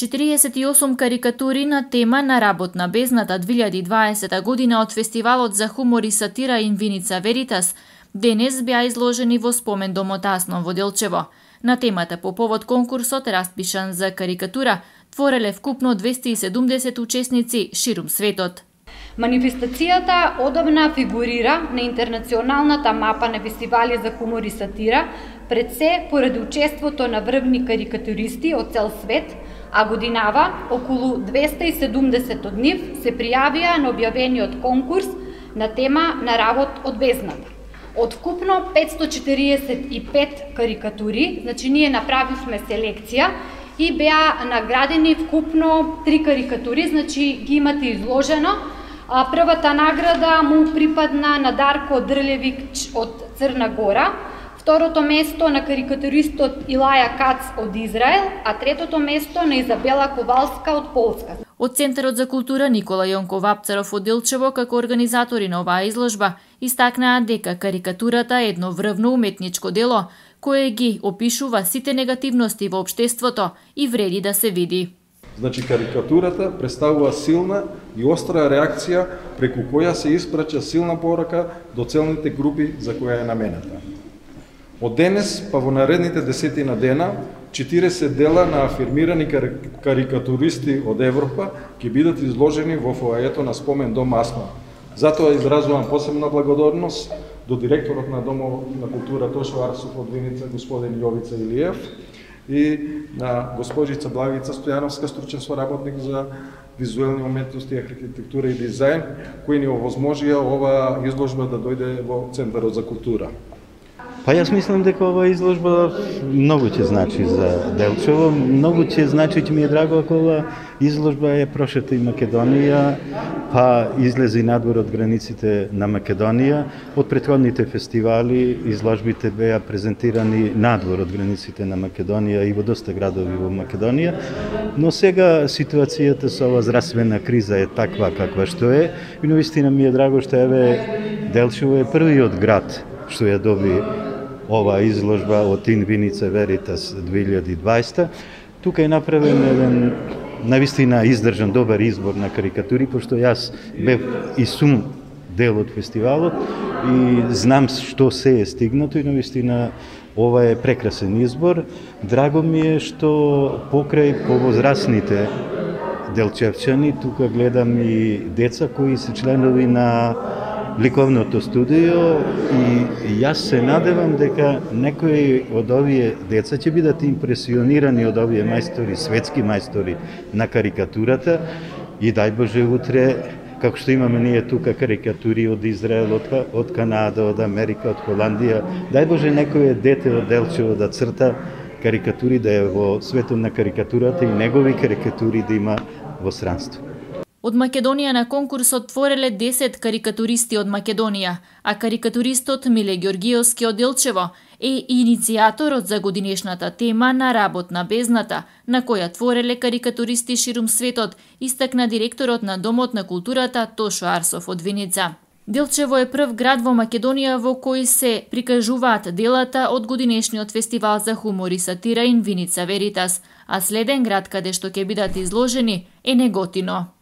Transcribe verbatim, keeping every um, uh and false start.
четириесет и осум карикатури на тема на работ на бездната две илјади и дваесета година од Фестивалот за хумор и сатира Инвиница Веритас денес беа изложени во спомен домот Асно во Делчево. На темата по повод конкурсот распишан за карикатура твореле вкупно двесте и седумдесет учесници ширум светот. Манифестацијата одамна фигурира на интернационалната мапа на фестивали за хумор и сатира, пред се поради учеството на врвни карикатуристи од цел свет, а годинава околу двесте и седумдесет од нив се пријавија на објавениот конкурс на тема на работ од бездната. Од вкупно петстотини и четириесет и пет карикатури, значи ние направивме селекција и беа наградени вкупно три карикатури, значи ги имате изложено. Првата награда му припадна на Дарко Дрљевич од Црна Гора, второто место на карикатуристот Илаја Кац од Израел, а третото место на Изабела Ковалска од Полска. Од Центарот за култура Никола Јонков Апцаров од Делчево, како организатори на оваа изложба, истакнаа дека карикатурата е едно врвно уметничко дело, кое ги опишува сите негативности во општеството и вреди да се види. Значи, карикатурата представува силна и остра реакција преку која се испрача силна порака до целните групи за која е намената. Од денес па во наредните десетина дена, четириесет дела на афирмирани карикатуристи од Европа ќе бидат изложени во фоајето на спомен дом Асно. Затоа изразувам посебна благодарност до директорот на Домот на култура Тошо Арсов од Виница, господин Јовица Илиев, и на госпожица Благица Стојановска, стручен соработник за визуелни уметности, архитектура и дизајн, кои ни овозможија ова изложба да дојде во Центарот за култура. Па јас мислам дека ова изложба многу ќе значи за Делчево, многу ќе значи, ќе ми е драго ако ова изложба е прошета и Македонија, па излезе и надвор од границите на Македонија. Од претходните фестивали изложбите беа презентирани надвор од границите на Македонија и во доста градови во Македонија, но сега ситуацијата со ова здравствена криза е таква каква што е, и навистина ми е драго што еве Делчево е првиот град што ја доби ова изложба од Инвиница Веритас две илјади и дваесета. Тука е направен еден навистина издржан добар избор на карикатури, пошто јас бев и сум дел од фестивалот и знам што се е стигнато и навистина ова е прекрасен избор. Драго ми е што покрај повозрасните делчевчани, тука гледам и деца кои се членови на ликовното студио и јас се надевам дека некои од овие деца ќе бидат импресионирани од овие мајстори, светски мајстори на карикатурата и дај Боже утре, како што имаме ние тука карикатури од Израел, од, од Канада, од Америка, од Холандија, дај Боже некој дете од Делчево да црта карикатури, да е во светот на карикатурата и негови карикатури да има во странство. Од Македонија на конкурсот твореле десет карикатуристи од Македонија, а карикатуристот Миле Ѓоргиевски од Делчево е иницијаторот за годинешната тема на работ на бездната, на која твореле карикатуристи ширум светот, истакна директорот на Домот на културата Тошо Арсов од Виница. Делчево е прв град во Македонија во кој се прикажуваат делата од годинешниот фестивал за хумор и сатира Инвиница Веритас, а следен град каде што ќе бидат изложени е Неготино.